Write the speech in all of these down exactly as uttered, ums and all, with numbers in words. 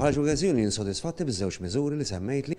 Bħala Workers Union sodisfatti biż-żewġ miżuri li semmejt li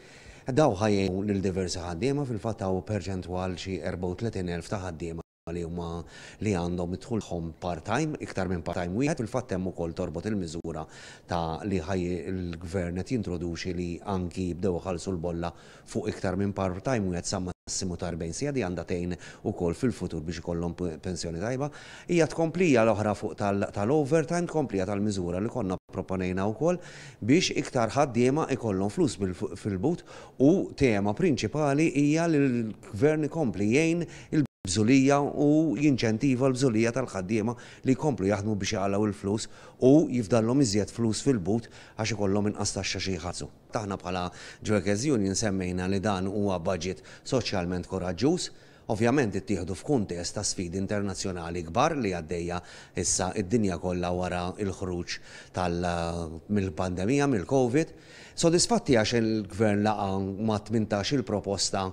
daw ħa jgħinu lil diversi ħaddiema. Fil-fatt hawn perċentwal xi erbgħa u tletin elf ta' ħaddiema li huma li għandhom idħulhom part-time, iktar minn part-time wieħed. Fil-fatt hemm ukoll torbot il-miżura ta' li ħaj il-gvern qed jintroduċi li anki jibdew iħallsu l-bolla fuq iktar minn part-time wieħed sa massimu ta' erbgħin siegħa, di għandha tgħin ukoll fil-futur biex ikollhom pensjoni tajba. Hija tkomplija l-oħra fuq tal-overtime, tkomplija tal-miżura li konna proponejna wkoll biex iktar ħaddiema ikollhom flus fil-but, u tema prinċipali hija li l-gvern ikompli jgħin il-bżulija u jinċentiva l-bżulija tal-ħaddiema li jkomplu jaħdmu biex jaqalgħu il-flus u jifdallhom iżjed flus fil-but għax ikollhom inqas taxxa xi jħallsu. Aħna bħala Workers Union semmejna li dan huwa budget soċjalment koraġġuż. Ovvjament ittieħdu f'kuntest ta' sfidi internazzjonali kbar li għaddejja issa id-dinja kollha wara il-ħruġ mill-pandemija, mill-Covid. Sodisfatti għax il-gvern laqa ma' tmintax il-proposta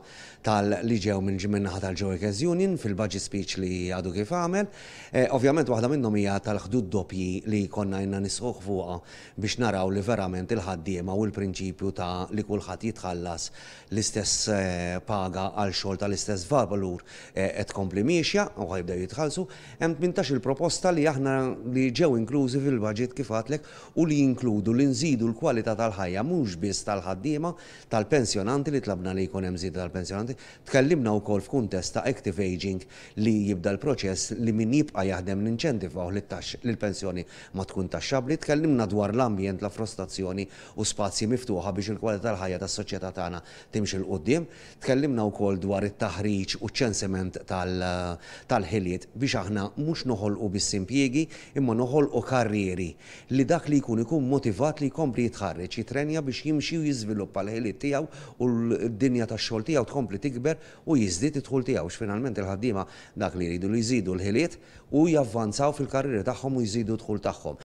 tal-li ġew minn min-naħa tal-Workers Union fil-budget speech li għadu kif għamel. Eh, ovvjament waħda minnhom hija tal-ħdud doppji li konna ilna nisħqu fuqha biex naraw li verament il-ħaddiema u l-prinċipju ta' li kulħadd jitħallas l-istess eh, paga għal xogħol tal-istess valur eh, qed tkompli miexja u ħa jibdew jitħallsu. Hemm tmintax il-proposta li aħna li ġew inklużi fil-budget, kif għedtlek, u li jinkludu li nżidu l-kwalità tal-ħajja mhux biss tal-ħaddiema, tal-pensjonanti, li tlabna li jkun hemm żieda tal-pensjonanti. Tkellimna wkoll f'kuntest ta' active aging li jibda l-proċess li min jibqa' jaħdem ninċentivaw li l-pensjoni ma tkun taxxabli. Tkellimna dwar l-ambjent, l-affrostazzjoni u spazji miftuħa biex il-kwalità tal-ħajja tas-soċjetà tagħna timxi 'l quddiem. Tkellimna wkoll dwar it-taħriġ u ċensiment tal-ħiliet biex aħna mhux noħolqu biss impjiegi imma noħolqu karrieri li dak li jkun ikun motivat li jkompli jitħarreġ, jitrenja biex jimxi u jiżviluppa l-ħiliet tiegħu u l-dinja tax-xogħol tiegħu tkompli tikber u jiżdied id-dħul tiegħu. Finalment il-ħaddiema dak li jridu li jżidu l-ħiliet u javvanzaw fil-karrieri tagħhom u jżidu d-dħul tagħhom.